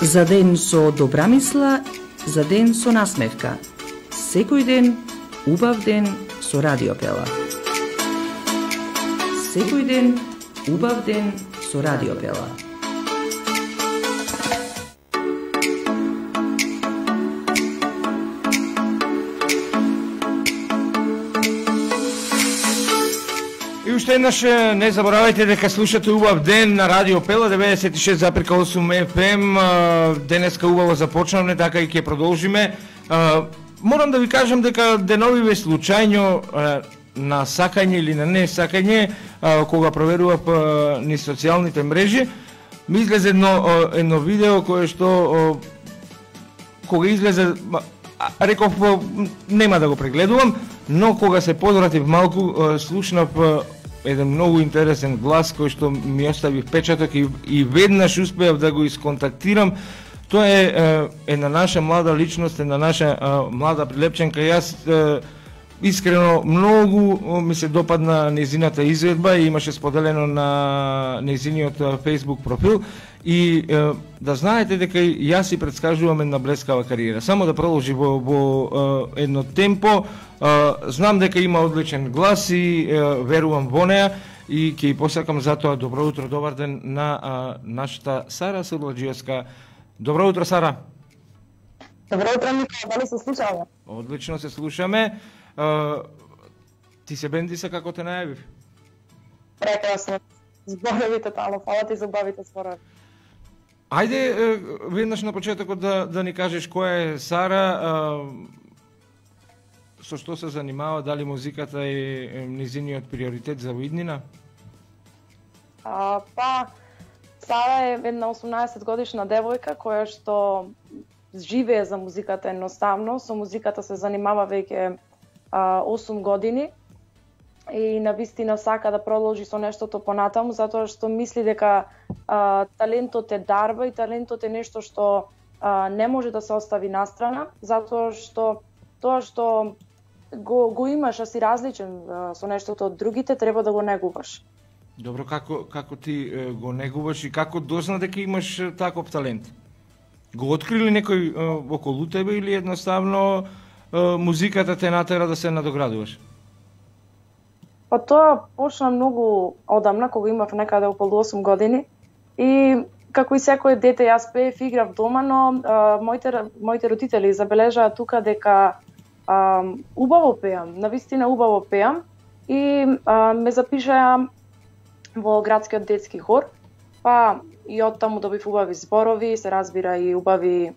За ден со добра мисла, за ден со насмевка. Секој ден, убав ден со Радио Пела. Секој ден, убав ден со Радио Пела. И уште еднаш не заборавајте дека слушате убав ден на Радио Пела 96,8 FM. Денеска убаво започнавме, така и ќе продолжиме. Морам да ви кажам дека деновиве случајно на сакање или на не сакање, кога проверував низ социјалните мрежи, ми излезе едно видео кое што кога излезе реков нема да го прегледувам, но кога се подвратив малку слушнав еден многу интересен глас кој што ми остави впечаток и веднаш успеав да го исконтактирам. Тоа е една наша млада личност, една наша млада прилепченка. Јас искрено многу ми се допадна нејзината изведба и имаше споделено на нејзиниот Facebook профил и да знаете дека јас си претскажувам една блескава кариера. Само да продолжи во едно темпо. Знам дека има одличен глас и верувам во неа и ќе ја посакам затоа добро утро, добар ден на нашата Сара Сурладжиевска. Добро утро, Сара. Добро утро, Мика, дали се слушаме? Одлично се слушаме. Ти се бенди како те најавив? Прекрасно. Зборови тотално, фала ти за убавите зборови. Ајде, веднаш на почетокот да ни кажеш која е Сара, со што се занимава, дали музиката е низиниот приоритет за виднина? Сара е една 18 годишна девојка која што живее за музиката едноставно. Со музиката се занимава веќе 8 години и навистина сака да продолжи со нештото понатаму, затоа што мисли дека талентот е дарба и талентот е нешто што не може да се остави настрана, затоа што тоа што го имаш, а си различен со нештото од другите, треба да го негуваш. Добро, како ти го негуваш и како дозна дека имаш таков талент? Го открили некој околу тебе или едноставно музиката те натера да се надоградуваш? Па тоа почна многу одамна, кога имав некаде околу 8 години и како и секој дете јас пеев, играв дома, но моите родители забележаа тука дека убаво пеам, навистина убаво пеам и ме запишаа во градскиот детски хор, па и оттаму добив убави зборови, се разбира и убави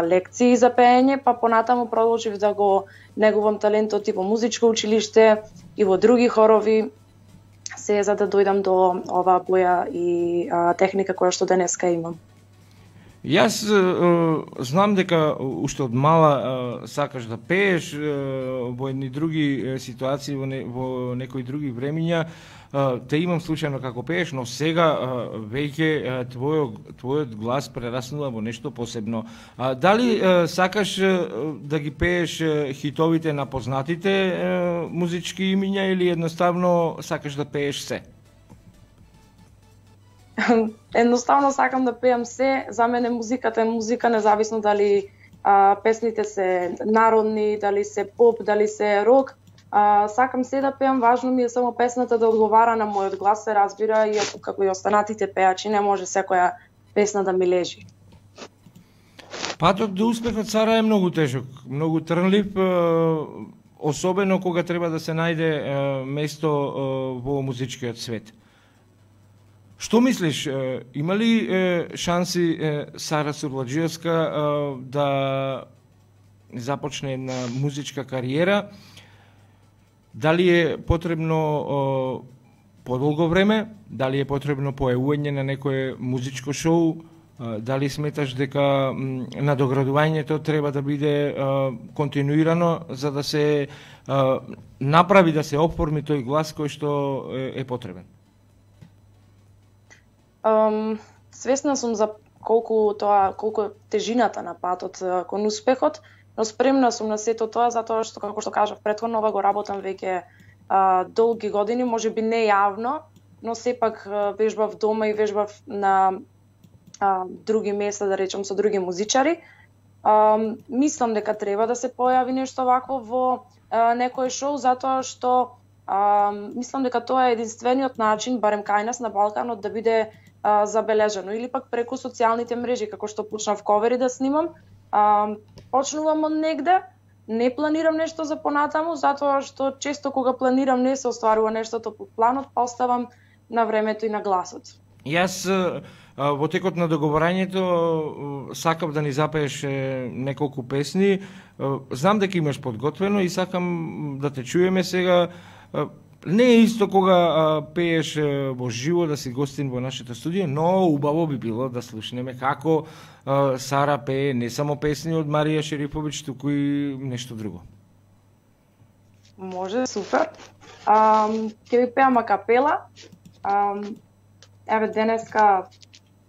лекции за пеење, па понатаму продолжив да го негувам талентот и во музичко училиште и во други хорови, се за да дојдам до оваа боја и техника која што денеска имам. Јас знам дека уште од мала сакаш да пееш во едни други ситуации, во некои други времиња. Те имам случајно како пееш, но сега веќе твојот глас прераснува во нешто посебно. Дали сакаш да ги пееш хитовите на познатите музички имиња или едноставно сакаш да пееш се? Едноставно сакам да пеам се. За мене музиката е музика, независно дали песните се народни, дали се поп, дали се рок. Сакам се да пеам, важно ми е само песната да одговара на мојот глас, се разбира, и како и останатите пеачи, не може секоја песна да ми лежи. Патот до успехот, Сара, е многу тежок, многу трнлив, особено кога треба да се најде место во музичкиот свет. Што мислиш, има ли шанси Сара Сурладжиевска да започне една музичка кариера? Дали е потребно подолго време? Дали е потребно појавување на некое музичко шоу? Дали сметаш дека надоградувањето треба да биде континуирано за да се направи, да се оформи тој глас кој што е потребен? Свесна сум за колку е тежината на патот кон успехот, но спремна сум на сето тоа затоа што, како што кажав претходно, ова го работам веќе долги години, можеби не јавно, но сепак вежбав дома и вежбав на други места, да речем, со други музичари. Мислам дека треба да се појави нешто вакво во некој шоу, затоа што мислам дека тоа е единствениот начин, барем кај нас на Балканот, да биде забележано. Или пак преку социјалните мрежи, како што почнав ковери да снимам. Почнувам од негде, не планирам нешто за понатаму, затоа што често кога планирам не се остварува нештото по планот, па оставам на времето и на гласот. Јас во текот на договорањето сакав да ни запееш неколку песни. Знам дека имаш подготвено и сакам да те чуеме сега. Не е исто кога пееш во живо да си гостин во нашето студио, но убаво би било да слушнеме како Сара пее не само песни од Марија Шерифовиќ, туку и нешто друго. Може, супер. Ќе ви пеам акапела. Еве денеска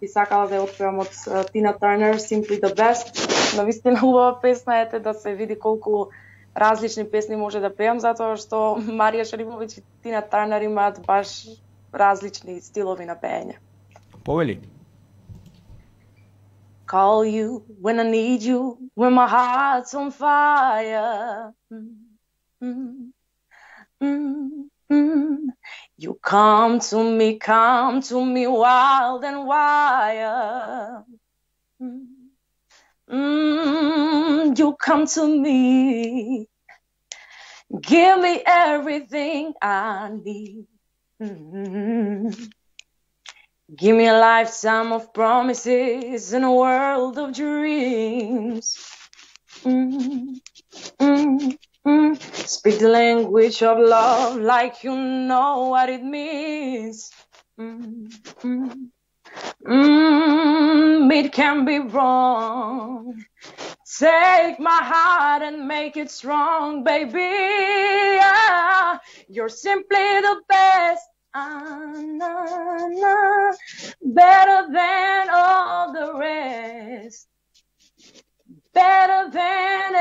би сакала да ја отпеам од Тина Турнер, Simply the Best. Навистина убава песна, ете да се види колку различни песни може да пеам, затоа што Марија Шерифовиќ и Тина Турнер имаат баш различни стилови на пеење. Повели. Call you when I need you, when my heart's on fire. You come to me wild and wild. You come to me, give me everything I need. Give me a lifetime of promises and a world of dreams. Speak the language of love like you know what it means. It can be wrong. Take my heart and make it strong, baby. You're simply the best. Better than all the rest. Better than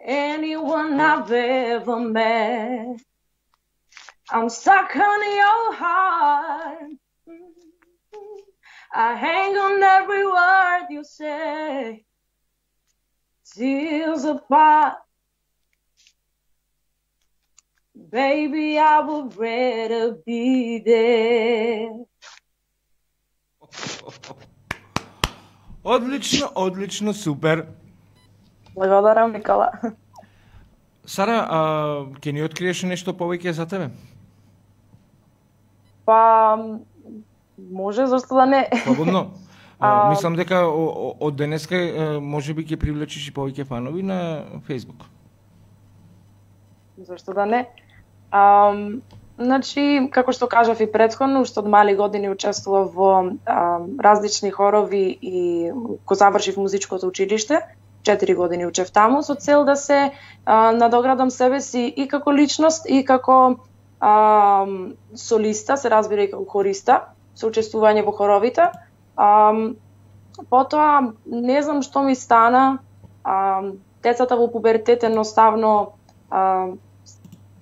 anyone I've ever met. I'm stuck on your heart. I hang on every word you say. Tears apart. Baby, I would rather be there. Одлично, одлично, супер. Благодарам, Никола. Сара, ќе ни откриеш нешто повеќе за тебе? Па, може, зашто да не. Слободно. Мислам дека од денеска можеби ќе привлечеш и повеќе фанови на Facebook. Зашто да не. Значи, како што кажав и претходно, уште од мали години учествував во различни хорови и кога завршив музичкото училиште, 4 години учев таму, со цел да се надоградам себе си и како личност, и како солиста, се разбира и како хориста, со учествување во хоровите. Потоа, не знам што ми стана, децата во пубертет едноставно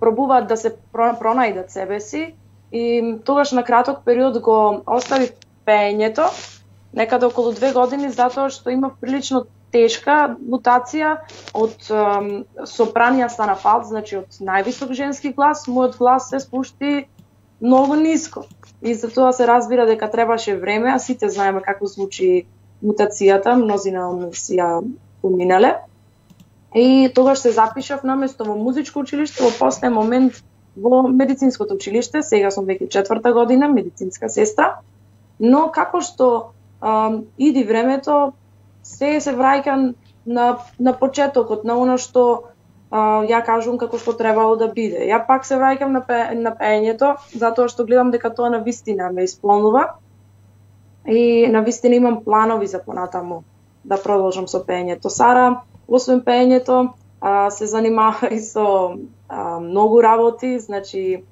пробуваат да се пронајдат себе си и тогаш на краток период го оставив пеењето, некаде околу 2 години, затоа што имав прилично тешка мутација од сопранија стана фалт, значи од највисок женски глас, мојот глас се спушти многу ниско. И затоа се разбира дека требаше време, а сите знаеме како звучи мутацијата, мнозина од нас ја поминале. И тогаш се запишав наместо во музичко училиште, во последен момент во медицинското училиште, сега сум веќе 4-та година, медицинска сестра, но како што иди времето, се враќам на почетокот, на оно што ја кажувам како што требало да биде. Ја пак се враќам на пеењето, затоа што гледам дека тоа навистина ме исполнува и навистина имам планови за понатаму да продолжам со пеењето. Сара, освен пеењето, се занимава и со многу работи, значи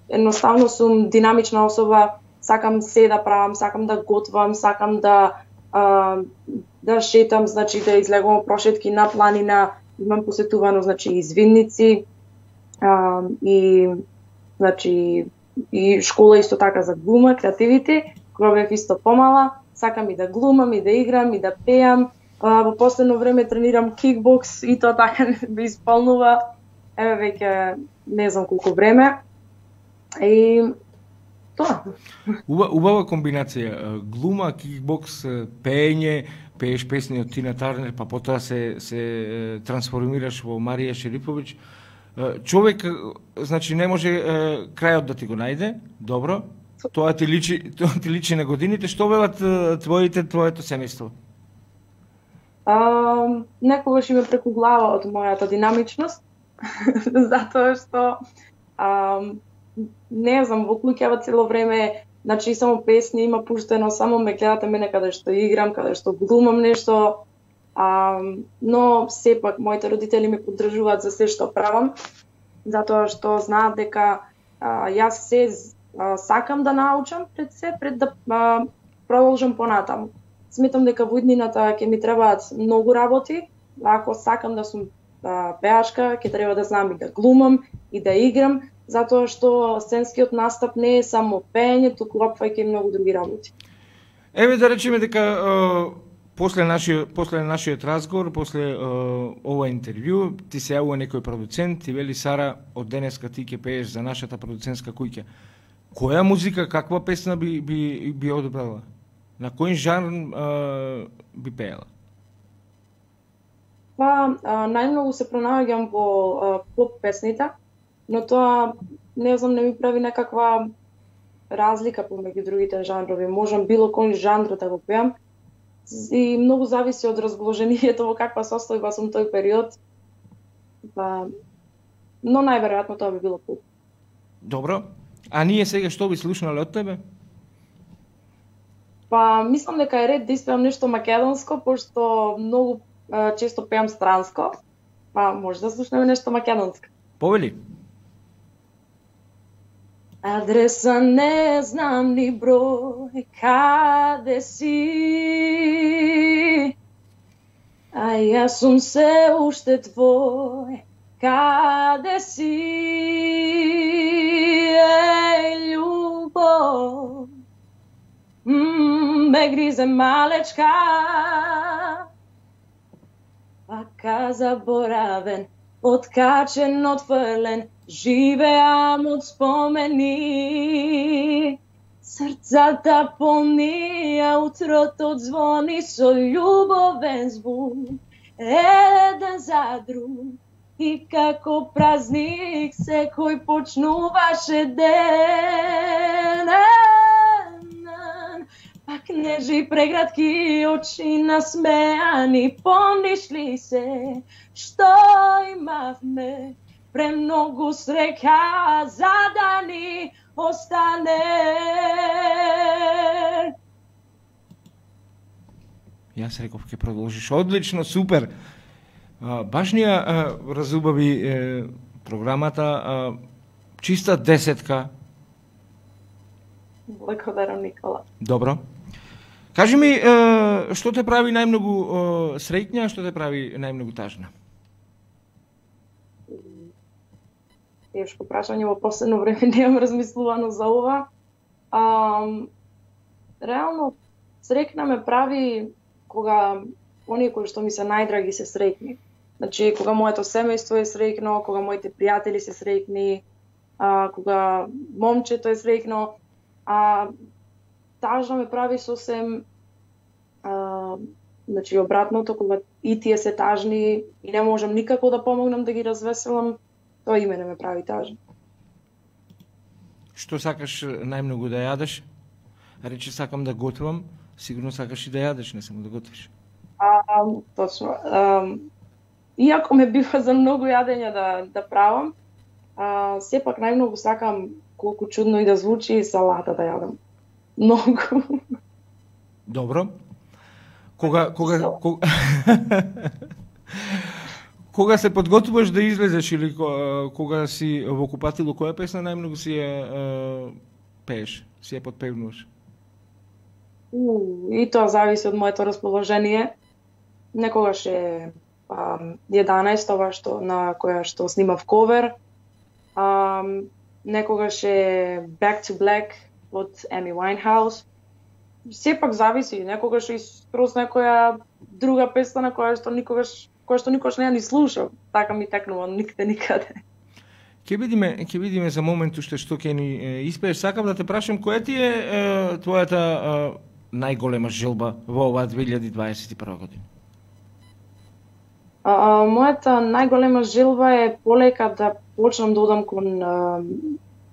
едноставно сум динамична особа, сакам се да правам, сакам да готвам, сакам да шетам, значи да излегувам прошетки на планина, имам посетувано, значи извинници и значи и школа исто така за глума, креативити, кога бев исто помала, сакам и да глумам, и да играм, и да пеам. Во последно време тренирам кикбокс и тоа така ме исполнува. Еве веќе не знам колку време. И тоа. Убава комбинација. Глума, кикбокс, пеење, пееш песни од Тина Тарнер, па потоа се трансформираш во Марија Шериповиќ. Човек, значи, не може крајот да ти го најде, добро. Тоа ти личи на годините. Што велат твоето семејство? Некогаш ме преку глава од мојата динамичност, затоа што не знам, во куќава цело време, значи само песни има пуштено, само ме гледате мене каде што играм, каде што глумам нешто, но сепак моите родители ме поддржуваат за се што правам, затоа што знаат дека јас се сакам да научам пред да продолжам понатаму. Сметам дека во иднината ќе ми требаат многу работи, ако сакам да сум пеачка, ќе треба да знам и да глумам и да играм, затоа што сценскиот настап не е само пеење, туку опфаќа и многу други работи. Еве да речеме дека после нашиот разговор, после ова интервју, ти се јавува некој продуцент, ти вели: Сара, од денеска ти ќе пееш за нашата продуцентска куќа. Која музика, каква песна би одбрала? На кој жанр би пеела? Па, најмногу се пронаоѓам во поп песните, но тоа, не знам, не ми прави некаква разлика помеѓу другите жанрови. Можам било кој жанр да го пеам и многу зависи од разположението, во каква состојба сум тој период. Па, но најверојатно тоа би било поп. Добро. А ние сега што би слушнале од тебе? Па, мислам дека е ред да испеам нешто македонско, пошто многу често пеам странско. Па, може да слушнеме нешто македонско. Повели. Адреса не знам ни број, каде си? А јас сум се уште твој, каде си? Еј, љубов, ме гризе малечка, пака заборавен, откачен, отфрлен, живеам од спомени. Срцата полнија, утрото звони со љубовен звук, еден за друг. И како празник секој почнуваше ден. Пак нежи прегратки очи насмеани, помниш ли се што имавме? Премногу среќа за да ни остане. Јас реков ќе продолжиш. Одлично, супер. Баш ни разубави програмата. Чиста десетка. Благодарам, Никола. Добро. Кажи ми, што те прави најмногу среќна, што те прави најмногу тажна? Тешко прашање, во последно време немам размислувано за ова. Реално, среќна ме прави кога оние кои што ми се најдраги се среќни. Значи, кога моето семејство е среќно, кога моите пријатели се среќни, кога момчето е среќно, тажно ме прави сосем значи обратното, кога и тие се тажни и не можам никако да помогнам да ги развеселам, тоа и мене ме прави тажна. Што сакаш најмногу да јадеш? Речи сакам да готвам, сигурно сакаш и да јадеш, не само да готвиш. Точно. Иако ме бива за многу јадење да правам, сепак најмногу сакам, колку чудно и да звучи, салата да јадам. Многу. Добро. Кога се подготвуваш да излезеш или кога си во купатило, која песна најмногу си ја пееш, си ја подпевнуваш? И тоа зависи од моето расположение. Некогаш е 11 ова што на која што снимав ковер. некогаш е Back to Black од Amy Winehouse. Сепак зависи, некогаш и скроз некоја друга песна на која што никогаш не ја ни слушав. Така ми текнува никаде. Ќе видиме за момент уште што ќе ни испееш. Сакам да те прашам која ти е твојата најголема желба во оваа 2021 година? Мојата најголема желба е полека да почнам да одам кон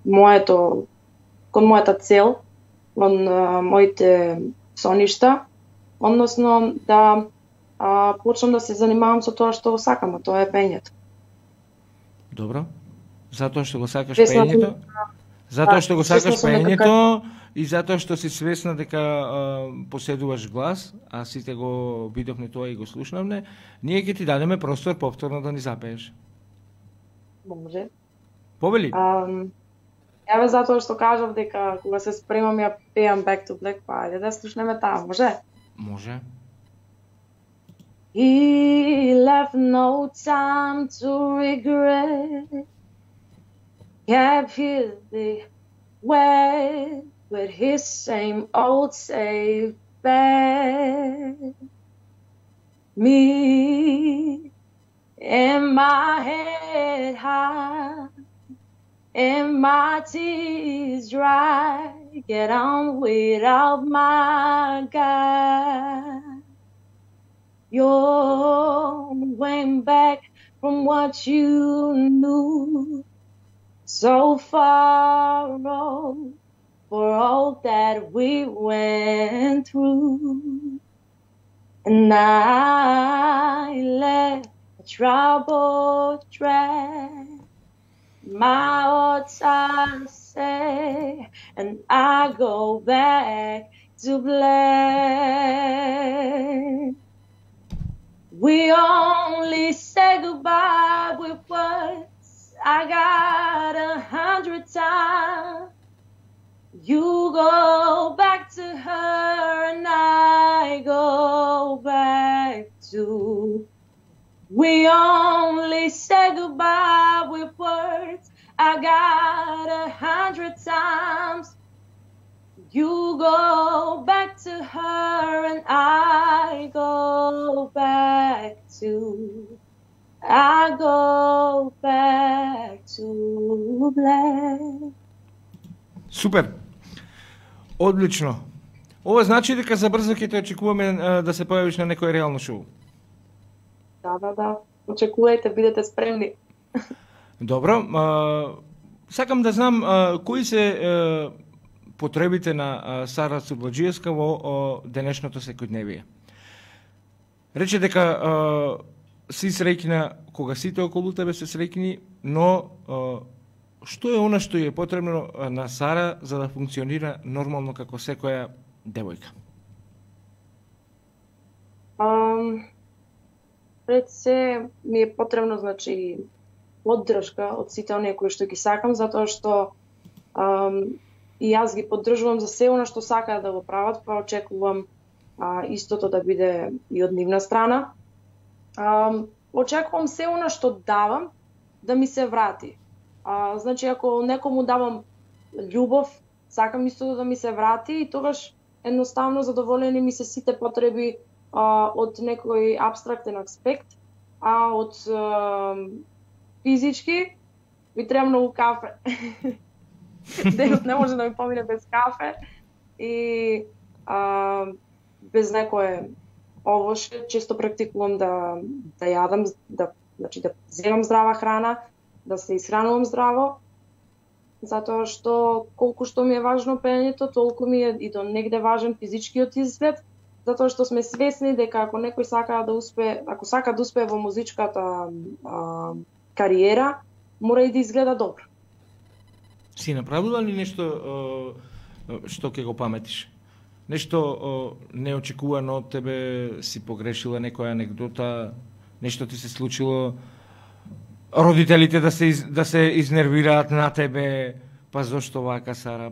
мојата цел, кон моите соништа, односно да почнам да се занимавам со тоа што сакам, а тоа е пењето. Добро. Затоа што го сакаш пењето? Затоа што го сакаш пењето и затоа што си свесна дека поседуваш глас, а сите го видовме тоа и го слушнавме, ние ќе ти дадеме простор повторно да ни запееш. Може. Повели? Еве затоа што кажав дека кога се спремам ја пеам Back to Black, па ајде да слушнеме таа, може? Може. He left no time to regret, kept his way with his same old safe bet. Me and my head high and my tears dry, get on without my guy. You're way back from what you knew, so far off for all that we went through. And I let the trouble drag my odds, I say, and I go back to black. We only say goodbye with words. I got 100 times. You go back to her and I go back to. We only say goodbye with words. I got 100 times. You go back to her and I go back to. I go back to black. Супер. Одлично. Ова значи дека забрзо ќе те очекуваме да се појавиш на некој реално шоу. Да. Очекувајте, бидете спремни. Добро. Сакам да знам кои се потребите на Сара Цурбаджиевска во денешното секојдневие. Рече дека си среќна кога сите околу тебе се среќни, но што е она што е потребно на Сара за да функционира нормално како секоја девојка? Пред се ми е потребно, значи, поддршка од сите оние кои што ги сакам, затоа што и јас ги поддржувам за се она што сакаат да го прават, па очекувам истото да биде и од нивна страна. Очекувам се она што давам да ми се врати. Значи, ако некому давам љубов, сакам истото да ми се врати и тогаш едноставно задоволени ми се сите потреби од некој абстрактен аспект, а од физички ми треба многу кафе. Денот не може да ми помине без кафе и без некое овоше. Често практикувам да јадам, значи да земам здрава храна, да се исхранувам здраво, затоа што колку што ми е важно пењето, толку ми е и до негде важен физичкиот изглед, затоа што сме свесни дека ако некој сака да успее, ако сака да успее во музичката кариера, мора и да изгледа добро. Си направила ли нешто што ќе го паметиш? Нешто неочекувано од тебе, си погрешила некоја анекдота, нешто ти се случило, родителите да се изнервираат на тебе, па зошто вака Сара,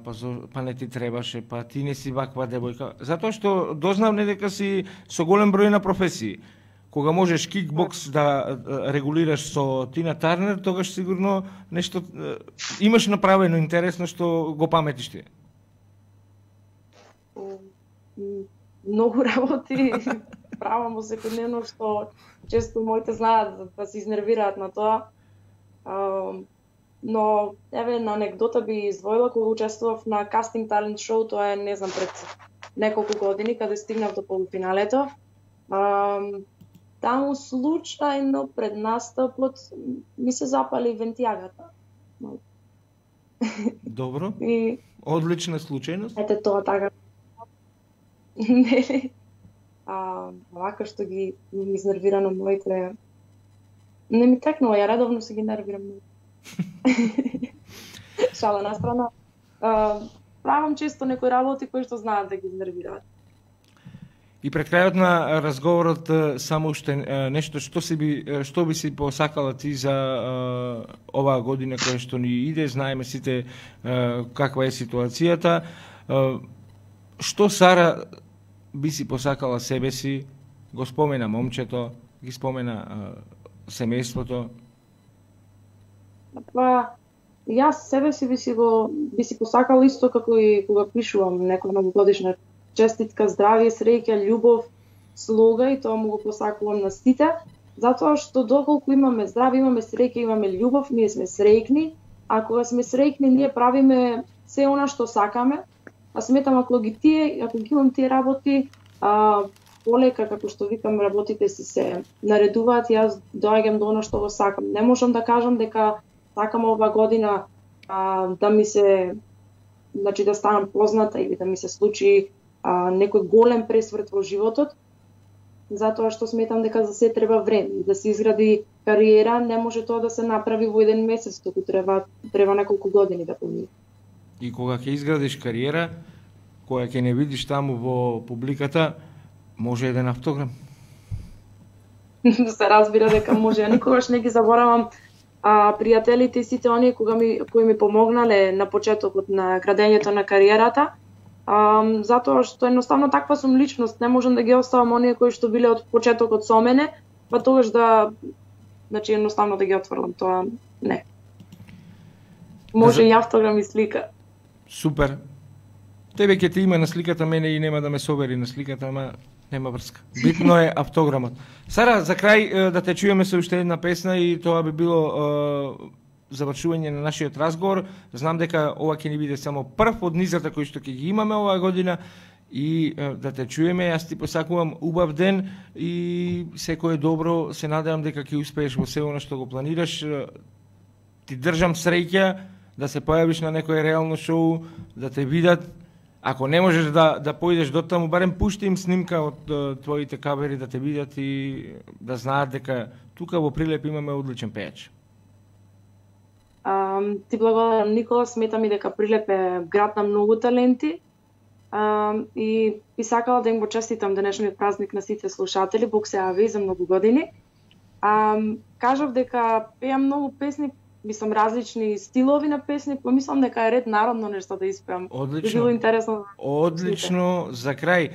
па не ти требаше, па ти не си ваква девојка. Затоа што дознавме дека си со голем број на професии. кога можеш кикбокс да регулираш со Тина Тарнер, тогаш сигурно нешто имаш направено интересно што го паметиш ти. Многу работи правам во секојдневно што често моите знаат да се изнервираат на тоа. Но еве на анекдота би издвоила кога учествував на кастинг талент шоу, тоа е не знам пред неколку години каде стигнав до полуфиналето. Таму случајно пред настапот ми се запали вентијагата. Добро. И одлична случајност. Ете тоа така. Нели? Вака што ги изнервирано моите не ми текнува, ја редовно се ги нервирам. Шала на страна. Правам често некои работи кои што знаат да ги изнервираат. И пред крајот на разговорот само уште нешто што би си посакала ти за оваа година која што ни иде, знаеме сите каква е ситуацијата. Што Сара би си посакала себе си, го спомена момчето, ги спомена семејството? Па, јас себе си би си посакала исто како и кога пишувам некоја новогодишна честитка, здравје, среќа, љубов, слога и тоа му го посакувам на сите, затоа што доколку имаме здравје, имаме среќа, имаме љубов, ние сме среќни, а кога сме среќни, ние правиме се она што сакаме, а сметам ако ги имам тие работи, полека, како што викам, работите се наредуваат, јас доаѓам до она што го сакам. Не можам да кажам дека сакам ова година да ми се, значи да станам позната или да ми се случи некој голем пресврт во животот, затоа што сметам дека за се треба време, да се изгради кариера, не може тоа да се направи во еден месец, туку треба неколку години да помине. И кога ќе изградиш кариера, која ќе не видиш таму во публиката, може еден автограм. Се разбира дека може, а никогаш не ги заборавам пријателите и сите оние кои ми помогнале на почетокот на градењето на кариерата, затоа што едноставно таква сум личност, не можам да ги оставам оние кои што биле од почетокот со мене, па тогаш значи едноставно да ги отфрлам, тоа не. Може и автограм и слика. Супер. Тебе ќе те има на сликата, мене и нема да ме собери на сликата, ама нема врска. Битно е автограмот. Сара, за крај да те чуеме со уште една песна и тоа би било завршување на нашиот разговор. Знам дека ова ќе ни биде само прв од низата кои што ќе ги имаме оваа година и да те чуеме. Јас ти посакувам убав ден и секое добро. Се надевам дека ќе успееш во се она што го планираш. Ти држам среќа да се појавиш на некој реално шоу, да те видат. Ако не можеш да појдеш до таму, барем пушти им снимка од твоите кавери да те видат и да знаат дека тука во Прилеп имаме одличен пејач. Ти благодарам, Никола, сметам и дека Прилеп е град на многу таленти и би сакала да им го честитам денешниот празник на сите слушатели, Бог се јави за многу години. Кажав дека пеам многу песни, мислам различни стилови на песни, помислам дека е ред народно нешто да испеам. Одлично. Било интересно. Одлично, за крај.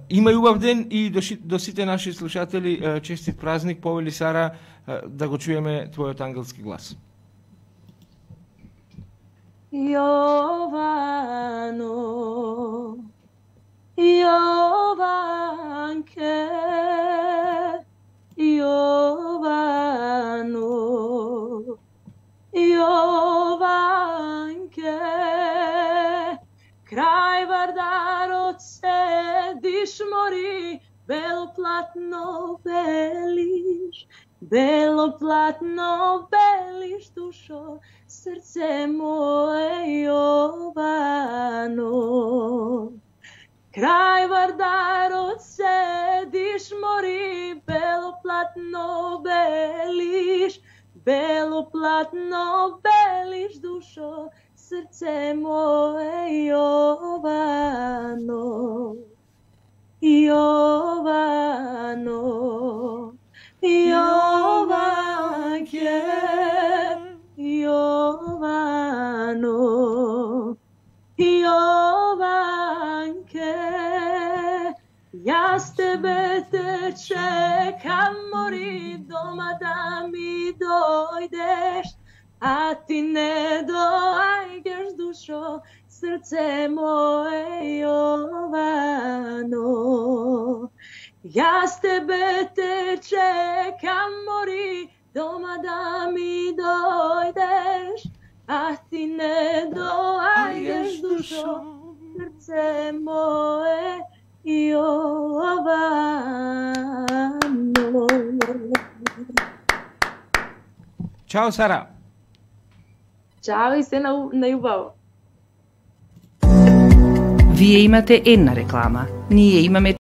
Има и убав ден и до сите наши слушатели честит празник. Повели Сара да го чуеме твојот ангелски глас. Јовано, Јованке, Јовано, Јованке, крај Вардарот седиш мори, бело платно белиш, бело платно белиш душо, срце мое Јовано. Крај Вардарот седиш мори, бело платно белиш, бело платно белиш душо, срце мое Јовано. Јовано, Јованке, Јовано, Јованке, Јас тебе те чекам, мори дома да ми дојдеш, а ти не доаѓаш, душо, срце моје Јовано. Јас тебе те чекам, мори дома да ми дојдеш, а ти не доаѓаш, душо, срце моје Јовано. Чао, Сара. Чао и се на љубаво. Вие имате една реклама. Ние имаме